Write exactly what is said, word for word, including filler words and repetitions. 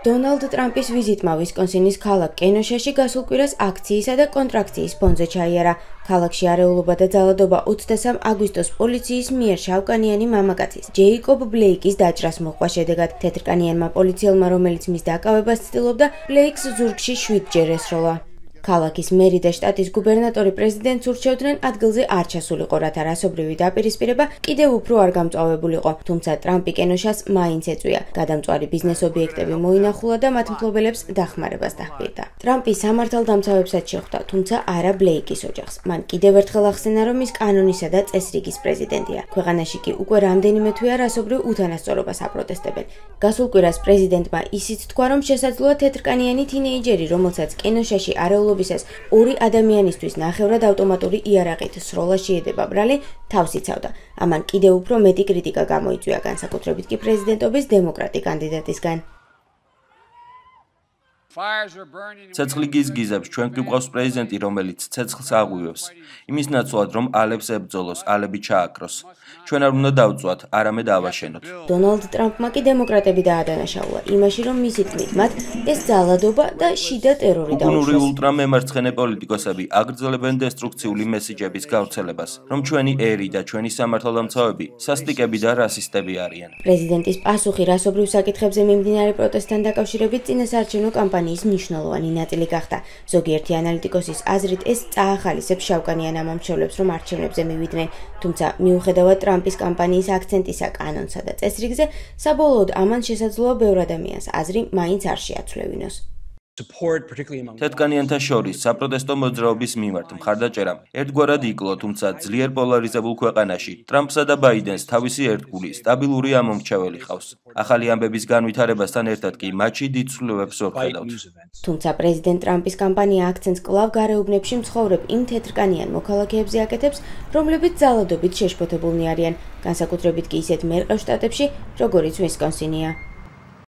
დონალდ ტრამპის ვიზიტმა ვისკონსინის ქალაქ კენოშაში გასულ კვირას აქციისა და კონტრაქციის ფონზე ჩაიარა. ქალაქში არეულობა და ძალადობა ოცდასამ აგვისტოს პოლიციის მიერ შავკანიანი მამაკაცის ჯეიკობ ბლეიკის დაჭრას მოჰყვა შედეგად. თეთრკანიანმა პოლიციელმა, რომელიც მის დაკავებას ცდილობდა, ბლეიქს ზურგში შვიდჯერ ესროლა. ქალაქის მერი და შტატის გუბერნატორი პრეზიდენტს ურჩევდნენ ადგილზე არ ჩასულიყო, რათა რასობრივი დაპირისპირება კიდევ უფრო არ გამწვავებულიყო, თუმცა ტრამპი კენოშას მაინც ეწვია. გადამწვარი ბიზნეს ობიექტები მოინახულა და მათ მფლობელებს დახმარებას დაჰპირდა. ტრამპი სამართალდამცავებსაც შეხვდა, თუმცა არა ბლეიკის ოჯახს. მან კიდევ ერთხელ ახსენა, რომ ის კანონისა და წესრიგის პრეზიდენტია. ქვეყანაში კი უკვე რამდენიმე თვეა რასობრივ უთანასწორობას აპროტესტებენ. გასულ კვირას პრეზიდენტმა ისიც თქვა, რომ შესაძლოა თეთრკანიანი თინეიჯერი, რომელსაც კენოშაში არეულობა ორი ადამიანისთვის ნახევრად ავტომატური იარაღით სროლა შეედება ბრალი, თავს იცავდა. ამან კიდევ უფრო მეტი კრიტიკა გამოიწვია, განსაკუთრებით კი პრეზიდენტობის დემოკრატი კანდიდატისგან. ცეცხლი გიზგიზებს, ჩვენ გვყავს პრეზიდენტი, რომელიც ცეცხლს აღვივებს. იმის ნაცვლად, რომ ალებს ებრძოლოს, ალები ჩააქროს. ჩვენ არ უნდა დავწვათ, არამედ ავაშენოთ. დონალდ ტრამპმა კი დემოკრატები დაადანაშაულა იმაში, რომ მისი თქმით მათ ეს ძალადობა და შიდა ტერორი დაუშვეს. უკუნური ულტრამემარცხენე პოლიტიკოსები აგრძელებენ დესტრუქციული მესიჯების გავრცელებას, რომ ჩვენი ერი და ჩვენი სამართალდამცავები სასტიკები და რასისტები არიან. პრეზიდენტის პასუხი რასობრივ საკითხებზე მიმდინარე პროტესტთან დაკავშირებით წინასაარჩევნო კამპანიის მნიშვნელოვანი ნაწილი გახდა. ზოგიერთი ანალიტიკოსის აზრით ეს წაახალისებს შავკანიან ამომრჩევლებს, რომ არჩევნებზე მივიდნენ, თუმცა მიუხედავად ტრამპის კამპანიის აქცენტისა კანონსა და წესრიგზე, საბოლოოდ ამან შესაძლოა ბევრ ადამიანს აზრი მაინც არ შეაცვლევინოს. თეთრკანიანთა შორის საპროტესტო მოძრაობის მიმართ მხარდაჭერამ ერთგვარად იკლო, თუმცა ძლიერ პოლარიზებულ ქვეყანაში ტრამპსა და ბაიდენს თავისი ერთგული სტაბილური ამომრჩეველი ჰყავს. ახალი ამბების განვითარებასთან ერთად კი მათში დიდ ცვლილებებს ვხედავთ. თუმცა პრეზიდენტ ტრამპის კამპანია აქცენტს კვლავ გარეუბნებში მცხოვრებ იმ თეთრკანიან მოქალაქეებზე აკეთებს, რომლებიც ძალადობით შეშფოთებულნი არიან, განსაკუთრებით კი ისეთ მერყევ შტატებში, როგორიც ვისკონსინია.